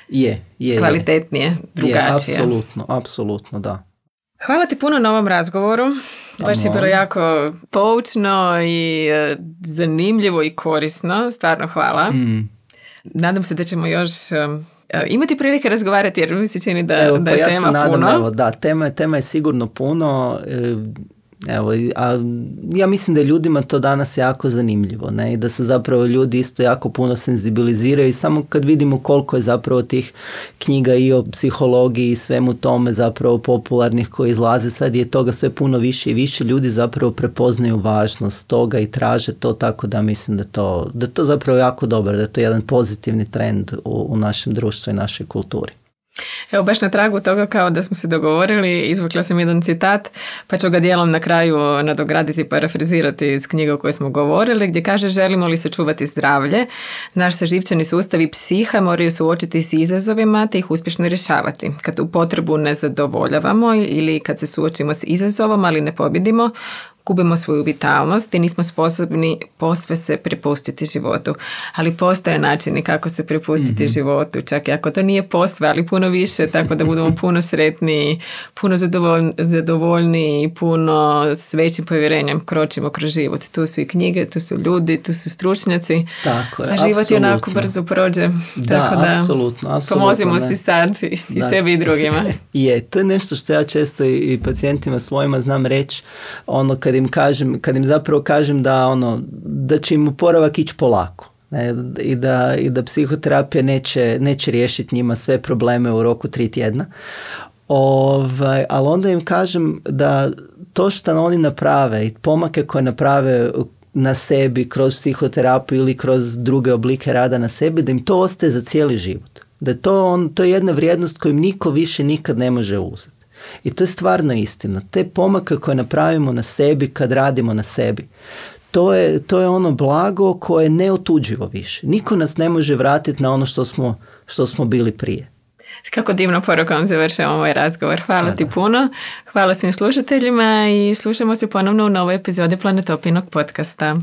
Je, je. Kvalitetnije, je. drugačije. Je, apsolutno, apsolutno, da. Hvala ti puno na ovom razgovoru. Baš je bilo jako poučno i uh, zanimljivo i korisno. Stvarno hvala. Mm. Nadam se da ćemo još um, imati prilike razgovarati jer mi se čini da, evo, da je ja tema nadam, puno. Evo, da, tema, tema je sigurno puno. Evo, a ja mislim da je ljudima to danas jako zanimljivo, ne? I da se zapravo ljudi isto jako puno senzibiliziraju i samo kad vidimo koliko je zapravo tih knjiga i o psihologiji i svemu tome zapravo popularnih koji izlaze, sad je toga sve puno više i više, ljudi zapravo prepoznaju važnost toga i traže to, tako da mislim da to, da to zapravo jako dobro, da je to jedan pozitivni trend u, u našem društvu i našoj kulturi. Evo, baš na tragu toga kao da smo se dogovorili, izvukla sam jedan citat, pa ću ga dijelom na kraju nadograditi i parafrazirati iz knjige o kojoj smo govorili, gdje kaže: želimo li sačuvati zdravlje, naš se živčani sustav i psiha moraju suočiti s izazovima te ih uspješno rješavati. Kad tu potrebu ne zadovoljavamo ili kad se suočimo s izazovom, ali ne pobjedimo, gubimo svoju vitalnost i nismo sposobni posve se prepustiti životu. Ali postoje načini kako se prepustiti mm-hmm. životu, čak i ako to nije posve, ali puno više, tako da budemo puno sretniji, puno zadovoljni, zadovoljni i puno s većim povjerenjem kročimo kroz život. Tu su i knjige, tu su ljudi, tu su stručnjaci. Tako je, a život apsolutno. je onako brzo prođe. Da, tako da apsolutno, apsolutno. Pomozimo ne. si sad i, i sebi i drugima. Je, to je nešto što ja često i, i pacijentima svojima znam reći, ono kad im kažem, kad im zapravo kažem da ono, da će im oporavak ići polako. Ne, i, da, i da psihoterapija neće, neće riješiti njima sve probleme u roku tri tjedna. Ovaj, ali onda im kažem da to što oni naprave i pomake koje naprave na sebi kroz psihoterapiju ili kroz druge oblike rada na sebi, da im to ostaje za cijeli život. Da je to, on, to je jedna vrijednost koju niko više nikad ne može uzeti. I to je stvarno istina. Te pomake koje napravimo na sebi kad radimo na sebi, to je, to je ono blago koje je neotuđivo više. Niko nas ne može vratiti na ono što smo, što smo bili prije. Kako divno porukom završavamo ovaj razgovor. Hvala ti puno. Hvala svim slušateljima i slušamo se ponovno u novoj epizodi Planetopinog podcasta.